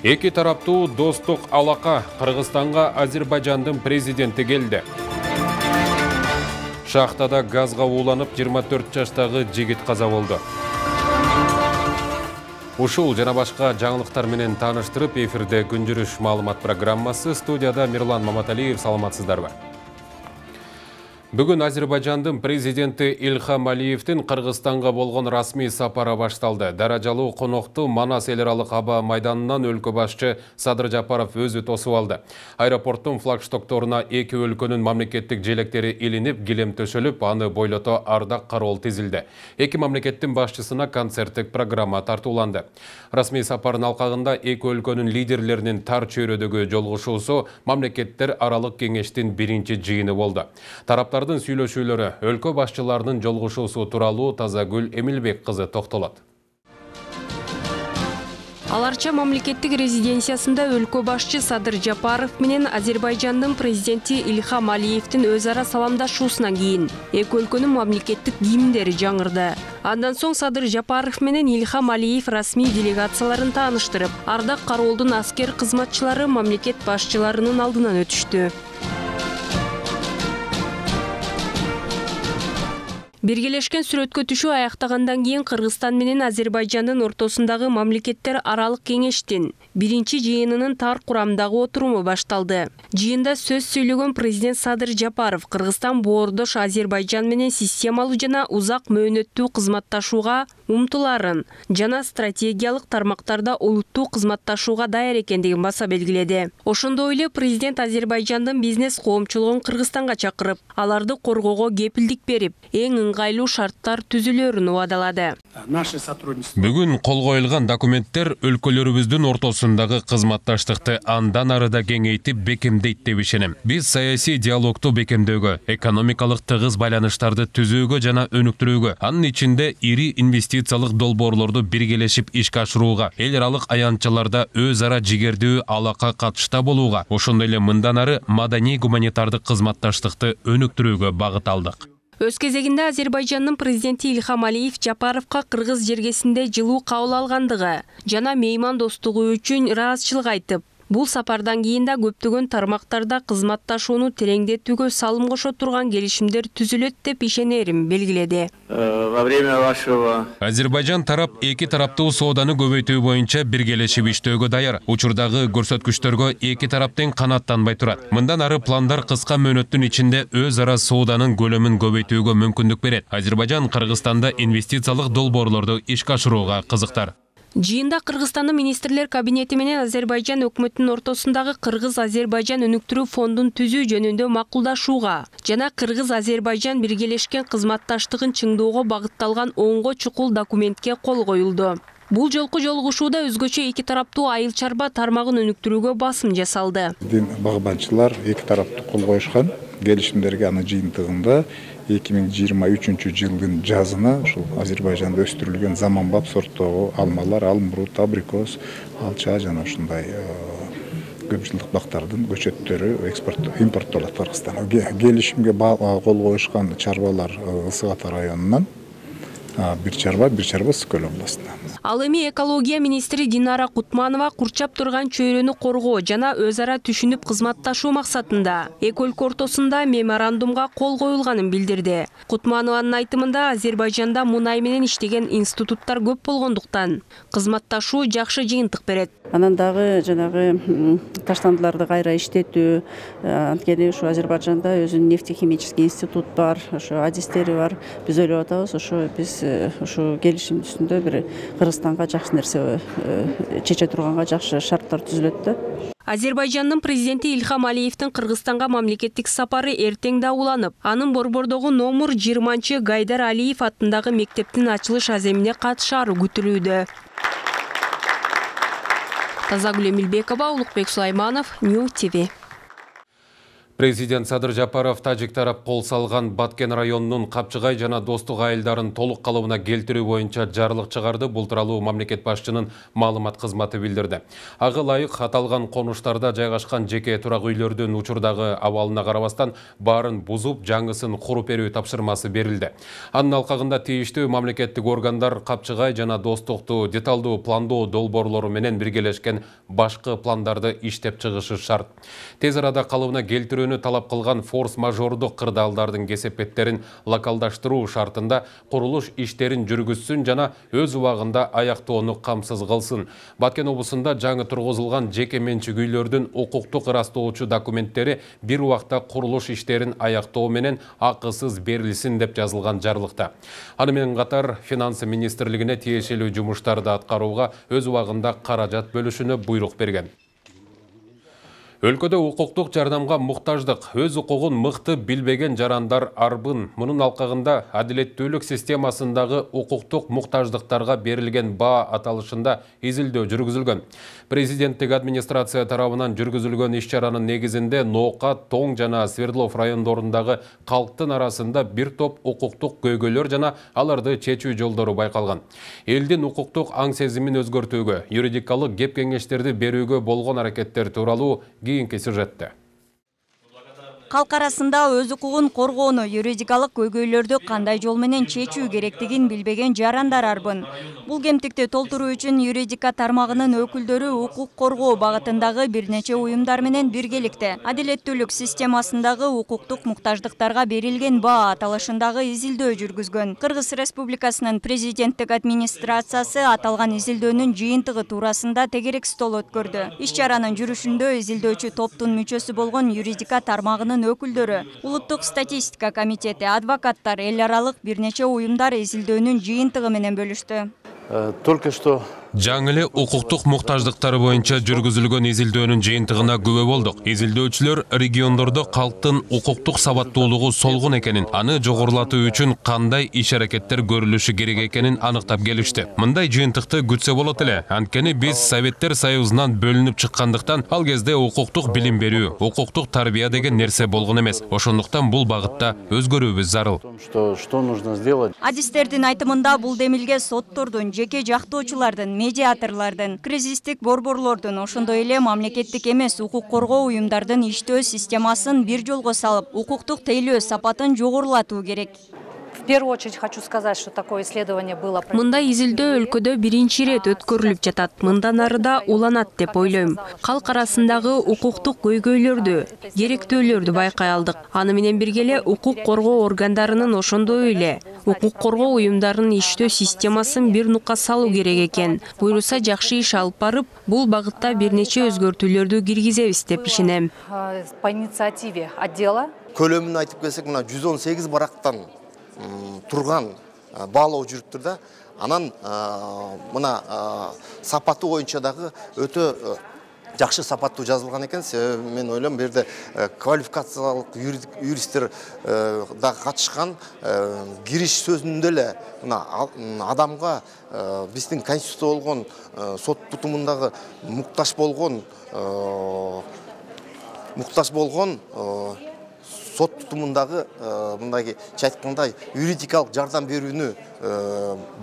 Эки тараптуу достук алака Кыргызстанга Азербайжандын президенти келди. Шахтада газга ууланып 24 жаштагы жигит каза болду. Ушул жана башка жаңылыктар менен тааныштырып, эфирде күн жүрүш маалымат программасы. Студияда Мирлан Маматалиев. Саламатсыздарбы? Бүгүн Азербайжандын президенти Ильхам Алиевдин Кыргызстанга болгон расмий сапары башталды. Даражалуу конокту Манас эл аралык аба майданынан өлкө башчы Садыр Жапаров өзү тосуп алды. Аэропорттун флагштокторуна эки өлкөнүн мамлекеттик желектери илинип, килем төшөлүп, аны бойлото ардак кароол тизилди. Эки мамлекеттин башчысына концерттик программа тартууланды. Расмий сапардын алкагында эки өлкөнүн лидерлеринин тар чөйрөдөгү жолугушуусу мамлекеттер аралык кеңештин биринчи жыйыны болду. Тараптардын сүйлөшүүлөрү, өлкө башчыларынын жолугушуусу тууралуу Тазагүл Эмилбек кызы токтолот. Аларча мамлекеттик резиденциясында өлкө башчы Садыр Жапаров менен Азербайжандын президенти Ильхам Алиевдин өз ара саламдашуусунан кийин эки өлкөнүн мамлекеттик гимндери жаңырды. Андан соң Садыр Жапаров менен Ильхам Алиев расмий делегацияларын тааныштырып, ардак кароолдун аскер кызматчылары мамлекет башчыларынын алдынан өтүштү. Биргелешкен сүрөткө түшүү аяктагандан кийин Кыргызстан менен Азербайжандын ортосундагы мамлекеттер аралык кеңештин биринчи жыйынынын тар курамдагы отуруму башталды. Жыйында сөз сүйлөгөн президент Садыр Жапаров Кыргызстан боордош Азербайжан менен системалуу жана узак мөөнөттүү кызматташууга умтуларын жана стратегиялык тармактарда олуттуу кызматташууга даяр экендигин баса белгиледи. Ошондой эле президент Азербайжандын бизнес коомчулугун Кыргызстанга чакырып, аларды коргоого кепилдик берип, эң ыңгайлуу шарттар түзүлөрүн убадалады. Бүгүн кол коюлган документтер өлкөлөрүбүздүн ортосундагы кызматташтыкты андан ары да кеңейтип бекемдейт деп ишенем. Биз саясий диалогду бекемдөөгө, экономикалык тыгыз байланыштарды түзүүгө жана өнүктүрүүгө, анын ичинде ири инвестициялык долбоорлорду биргелешип ишке ашырууга, эл аралык аянтчаларда өз ара жигердүү алака катышта болууга, ошондой эле мындан ары маданий гуманитардык кызматташтыкты өнүктүрүүгө багыт алдык. Өз кезегинде Азербайжандын президенти Ильхам Алиев Жапаровка кыргыз жергесинде жылуу кабыл алгандыгы жана мейман достугу үчүн ыраазычылык айтып, бул сапардан кийин да көптөгөн тармактарда кызматташууну тереңдетүүгө салым кошо турган келишимдер түзүлөт деп ишенерин белгиледи. Азербайжан тарап эки тараптуу сооданы көбөйтүү боюнча биргелешип иштөөгө даяр. Учурдагы көрсөткүчтөргө эки тарап тең канааттанбай турат. Мындан ары пландар кыска мөөнөттүн ичинде өз ара сооданын көлөмүн көбөйтүүгө мүмкүндүк берет. Азербайжан Кыргызстанда инвестициялык долбоорлорду ишке ашырууга кызыктар. Жыйында Кыргызстандын министрлер кабинети менен Азербайжан өкмөтүнүн ортосундагы Кыргыз-Азербайжан өнүктүрүү фондун түзүү жөнүндө макулдашууга жана Кыргыз-Азербайжан биргелешкен кызматташтыгын чыңдоого багытталган оңго чукул документке кол коюлду. Бул жолку жолугушууда өзгөчө эки тараптуу айыл чарба тармагын өнүктүрүүгө басым жасалды. Багбанчылар эки тараптуу кол коюшкан келишимдерге, анын жыйынтыгында 2023 жылдын жазына ушул Азербайжанда өстүрүлгөн заманбап сорттогу алмалар, алмурут, абрикос, алча жана ушундай көп жылдык бактардын көчөттөрү импорттолот Кыргызстанга. Келишимге кол коюшкан чарбалар Ысык Ата районунан, бир чарба Ысык Көл областынан. Ал эми экология министри Динара Кутманова курчап турган чөйрөнү коргоо жана өз ара түшүнүп кызматташуу максатында эки өлкө ортосунда меморандумга кол коюлганын билдирди. Кутманованын айтымында Азербайжанда мунай менен иштеген институттар көп болгондуктан кызматташуу жакшы жыйынтык берет. Анан дагы жанагы таштандыларды кайра иштетүү, анткени ушу Азербайжанда өзүнүн нефтехимический институт бар, ошо адистери бар. Биз ойлоп атабыз, ошо биз ушу келишим үстүндө бир Кыргызстанга жакшы нерсе чече турганга жакшы шарттар түзүлөт да. Азербайжандын президенти Ильхам Алиевдин Кыргызстанга мамлекеттик сапары эртең да уланып, анын Борбордогу номер 20 Гайдар Алиев аттындагы мектептин ачылыш аземине катышаары күтүлүүдө. Тазагүл Эмилбекова, Улукбек Сулайманов, Нью ТВ. Президент Садыр Жапаров тажик тарап кол салган Баткен районунун Капчыгай жана Достук айылдарын толук калыбына келтирүү боюнча жарлык чыгарды. Бул тууралуу мамлекет башчынын маалымат кызматы билдирди. Ага ылайык аталган конуштарда жайгашкан жеке турак үйлөрдүн учурдагы абалына карабастан баарын бузуп, жаңысын куруп берүү тапшырмасы берилди. Анын алкагында тийиштүү мамлекеттик органдар Капчыгай жана Достукту деталдуу пландоо долбоорлору менен биргелешкен башкы пландарды иштеп чыгышы шарт. Тез арада калыбына келтирүүнү талап кылган форс-мажордук кырдаалдардын кесепеттерин локалдаштыруу шартында курулуш иштерин жүргүзсүн жана өз убагында аяктоону камсыз кылсын. Баткен облусунда жаңы тургузулган жеке менчик үйлөрдүн укуктук ырастоочу документтери бир убакта курулуш иштерин аяктоо менен акысыз берилсин деп жазылган жарлыкта. Аны менен катар Финансы министрлигине тиешелүү жумуштарды аткарууга өз убагында каражат бөлүшүнө буйрук берген. Өлкөдө укуктук жардамга муктаждык, өз укугун мыкты билбеген жарандар арбын. Мунун алкагында адилеттүүлүк системасындагы укуктук муктаждыктарга берилген баа аталышында изилдөө жүргүзүлгөн. Президенттик администрация тарабынан жүргүзүлгөн иш-чаранын негизинде Ноокат, Тоң жана Свердлов райондорундагы калктын арасында бир топ укуктук көйгөйлөр жана аларды чечүү жолдору байкалган. Элдин укуктук аң сезимин өзгөртүүгө, юридикалык кеп-кеңештерди берүүгө болгон аракеттер тууралуу кийинки сюжетте. Калк арасында өз укугун коргоону, юридикалык көйгөйлөрдү кандай жол менен чечүү керектигин билбеген жарандар арбын. Бул кемтикти толтуруу үчүн юридика тармагынын өкүлдөрү укук коргоо багытындагы бир нече уюмдар менен биргеликте адилеттүүлүк системасындагы укуктук муктаждыктарга берилген баа аталышындагы изилдөө жүргүзгөн. Кыргыз Республикасынын президенттик администрациясы аталган изилдөөнүн жыйынтыгы туурасында тегерек стол өткөрдү. Иш-чаранын жүрүшүндө изилдөөчү топтун мүчөсү болгон юридика тармагынын өкүлдөрү, Улуттук статистика комитети, адвокаттар, эл аралык бир нече уюмдар изилдөөнүн жыйынтыгы менен бөлүштү. Только что Жаңы эле укуктук муктаждыктары боюнча жүргүзүлгөн изилдөөнүн жыйынтыгына күбө болдук. Изилдөөчүлөр региондордо калктын укуктук сабаттуулугу солгун экенин, аны жогорулатуу үчүн кандай иш-аракеттер көрүлүшү керек экенин аныктап келишти. Мындай жыйынтыкты күтсө болот эле. Анткени биз Советтер Союзунан бөлүнүп чыккандыктан ал кезде укуктук билим берүү, укуктук тарбия деген нерсе болгон эмес. Ошондуктан бул багытта өзгөрүүбүз зарыл. что нужно сделать? Адистердин айтымында бул демилге соттордун, жеке жактоочулардын, медиаторлордун, кризистик борборлордун, ошондой эле мамлекеттик эмес укук коргоо уюмдардын иштөө системасын бир жолго салып, укуктук тейлөө сапатын жогорулатуу керек. В первую очередь хочу сказать, что такое исследование было. Мындай изилдөө өлкөдө биринчи ирет өткөрүлүп жатат. Мындан ары да уланат деп ойлойм. Калк арасындагы укуктук көйгөйлөрдү, керектөөлөрдү байкай алдык. Аны менен бирге эле укук коргоо органдарынын ошондой эле укук коргоо уюмдарынын иштөө системасын бир нукка салуу керек экен. Буйруса жакшы иш алып барып, бул багытта бир нече өзгөртүүлөрдү киргизебиз деп ишенем. По инициативе отдела. Көлөмүн айтып келсек, мына 118 барактан турган баалоо жүрүптүр да. Анан мына сапаты боюнча дагы өтө жакшы сапаттуу жазылган экен. Мен ойлойм, бу жерде квалификациялык юристтер да катышкан. Кириш сөзүндө эле мына адамга биздин конституция болгон сот тутумундагы муктаж болгон сот тутумундагы мындай айтканда юридикалык жардам берүүнү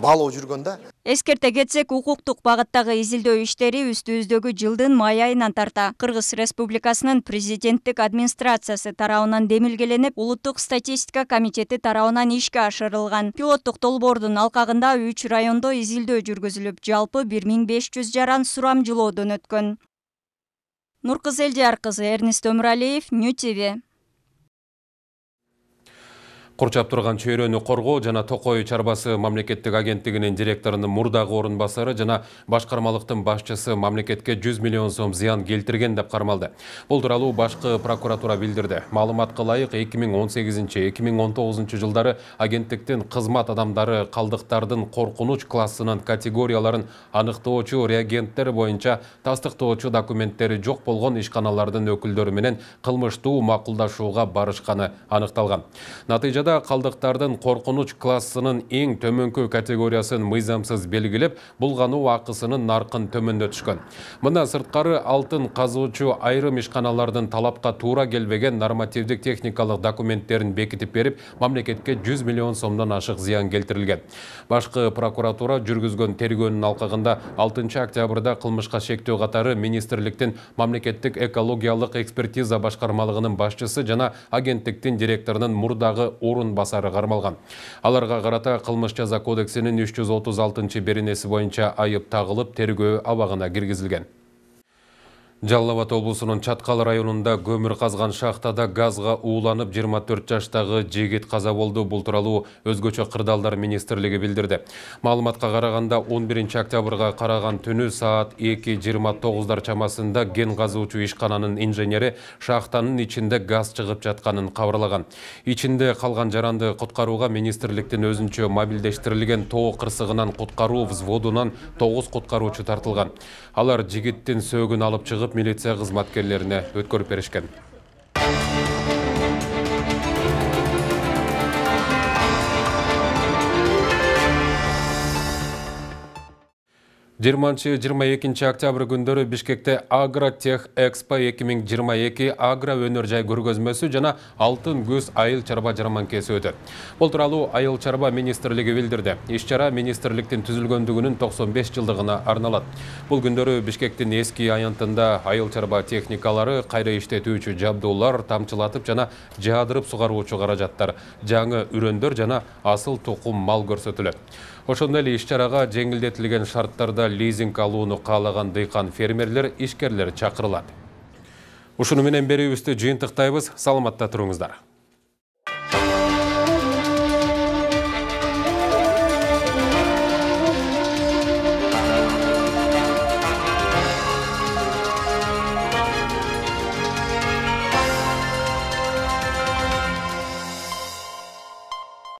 баалоо жүргөн да. Эскерте кетсек, укуктук багыттагы изилдөө иштери үстүбүздөгү жылдын май айынан тарта Кыргыз Республикасынын президенттик администрациясы тарабынан демилгеленип, Улуттук статистика комитети тарабынан ишке ашырылган. Пилоттук долбоордун алкагында 3 райондо изилдөө жүргүзүлүп, жалпы 1500 жаран сурамжылоодон өткөн. Нуркыз Элдияр кызы, Эрнест Өмүралиев, Нью ТВ. Курчап турган чөйрөнү коргоо жана Токой чарбасы мамлекеттик агенттигинин директорунун мурдагы орун басары жана башкармалыктын башчысы мамлекетке 100 миллион сом зыян келтирген деп кармалды. Бул тууралуу башкы прокуратура билдирди. Маалыматка ылайык 2018-2019 жылдары агенттиктин кызмат адамдары калдыктардын коркунуч классынын категорияларын аныктоочу реагенттер боюнча тастыктоочу документтери жок болгон ишканалардын өкүлдөрү менен кылмыштуу макулдашууга барышканы аныкталган. Натыйжада Натыйжада калдыктардын коркунуч классынын эң төмөнкү категориясын мыйзамсыз белгилеп, булгануу акысынын наркын төмөндөтүшкөн. Мына сырткары алтын казуучу айрым ишканалардын талапка туура келбеген нормативдик техникалык документтерин бекитип берип, мамлекетке 100 миллион сомдон ашык зыян келтирилген. Башкы прокуратура жүргүзгөн тергөөнүн алкагында 6 октябрда кылмышка шектөө катары министрликтин мамлекеттик экологиялык экспертиза башкармалыгынын башчысы жана агенттиктин директорунун мурдагы орун басары кармалган. Аларга карата кылмыш жаза кодексинин 336-беренеси боюнча айып тагылып, тергөө абагына киргизилген. Жалал Абад облусунун Чаткал районунда көмүр казган шахтада газга ууланып 24 жаштагы жигит каза болду. Бул тууралуу өзгөчө кырдаалдар министрлиги билдирди. Маалыматка караганда 11 октябрга караган түнү саат 2:29 чамасында ген казуучу ишкананын инженери шахтанын ичинде газ чыгып жатканын кабарлаган. Ичинде калган жаранды куткарууга министрликтин өзүнчө мобилдештирилген тоо кырсыгынан куткаруу взводунан 9 куткаруучу тартылган. Алар жигиттин сөөгүн алып чыгып милиция кызматкерлерине өткөрүп беришкен. 20-22 октябрь күндөрү Бишкекте Агротех Экспо 2022 агро өнөр жай көргөзмөсү жана алтын көз айыл чарба жарманкеси өтөт. Бул тууралуу айыл чарба министрлиги билдирди. Иш-чара министрликтин түзүлгөндүгүнүн 95 жылдыгына арналат. Бул күндөрү Бишкектин эски аянтында айыл чарба техникалары, кайра иштетүүчү жабдуулар, тамчылатып жана жаадырып сугаруучу каражаттар, жаңы үрөндөр жана асыл тукум мал көрсөтүлөт. Ошондой эле иш-чарага жеңилдетилген шарттарда лизинг алууну каалаган дыйкан фермерлер, ишкерлер чакырылат. Ушуну менен берүүбүздү жыйынтыктайбыз. Саламатта туруңуздар.